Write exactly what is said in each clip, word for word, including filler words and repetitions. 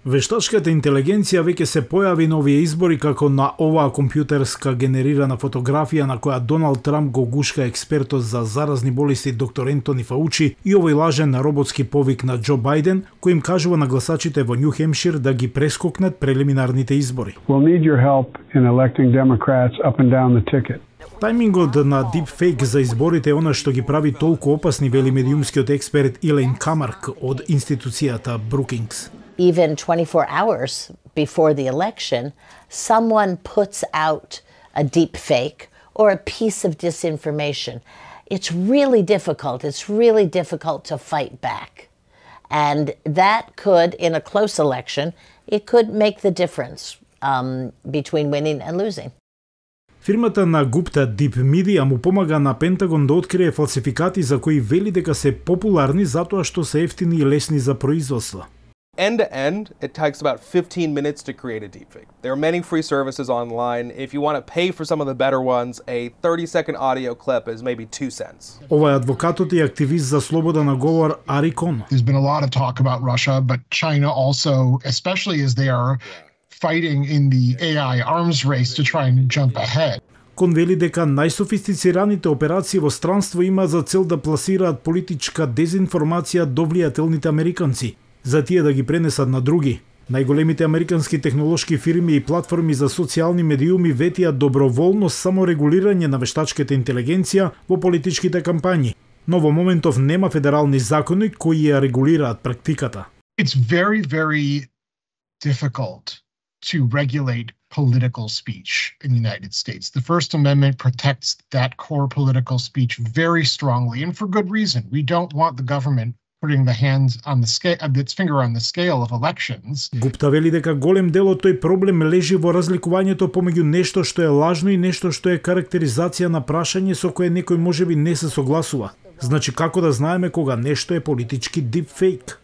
Вештачката интелигенција веќе се појави на овие избори како на оваа компјутерска генерирана фотографија на која Доналд Трамп го гушка експертот за заразни болести доктор Ентони Фаучи и овој лажен роботски повик на Џо Бајден, кој им кажува на гласачите во Њу Хемшир да ги прескокнат прелиминарните избори. We'll need your help in electing Democrats up and down the ticket. Тајмингот на дипфейк за изборите е она што ги прави толку опасни, вели медиумскиот експерт Илен Камарк од институцијата Brookings. Even twenty-four hours before the election, someone puts out a deep fake or a piece of disinformation. It's really difficult. It's really difficult to fight back. And that could, in a close election, it could make the difference um, between winning and losing. Фирмата на Гупта Deep Media му помага на Пентагон да открие фалсификати за кои вели дека се популарни затоа што се ефтини и лесни за производство. End to end, it takes about fifteen minutes to create a deepfake. There are many free services online. If you want to pay for some of the better ones, a thirty second audio clip is maybe two cents. Ова е адвокатот и активист за слобода на говор Ари Кон. There's been a lot of talk about Russia, but China also, especially as they are fighting in the A I arms race to try and jump ahead. Кон вели дека најсофистицираните операции во странство има за цел да пласираат политичка дезинформација до влијателните американци, за тие да ги пренесат на други. Најголемите американски технолошки фирми и платформи за социјални медиуми ветија доброволно саморегулирање на вештачката интелигенција во политичките кампањи, но во моментов нема федерални закони кои ја регулираат практиката. It's very, very difficult to regulate political speech in the United States. The First Amendment protects that core political speech very strongly, and for good reason. We don't want the government putting the hands on the scale, its finger on the scale of elections. Гупта вели дека голем дел од тој проблем лежи во разликувањето помеѓу нешто што е лажно и нешто што е карактеризација на прашање со кое некој можеби не се согласува. Значи како да знаеме кога нешто е политички deepfake?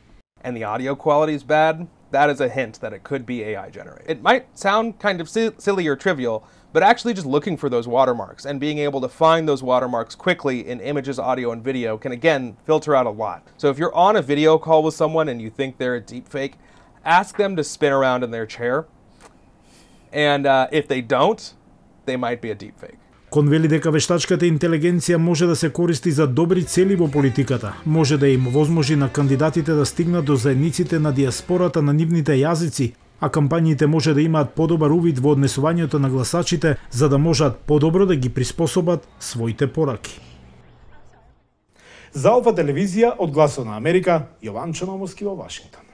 And the audio quality is bad. That is a hint that it could be A I generated. It might sound kind of silly or trivial, but actually just looking for those watermarks and being able to find those watermarks quickly in images, audio, and video can again filter out a lot. So if you're on a video call with someone and you think they're a deepfake, ask them to spin around in their chair. And uh, if they don't, they might be a deepfake. Кон вели дека вештачката интелигенција може да се користи за добри цели во политиката, може да им возможи на кандидатите да стигнат до заедниците на диаспората на нивните јазици, а кампањите може да имаат подобар увид во однесувањето на гласачите за да можат подобро да ги приспособат своите пораки. За Алфа телевизија од Гласот на Америка, Јован Чономовски во Вашингтон.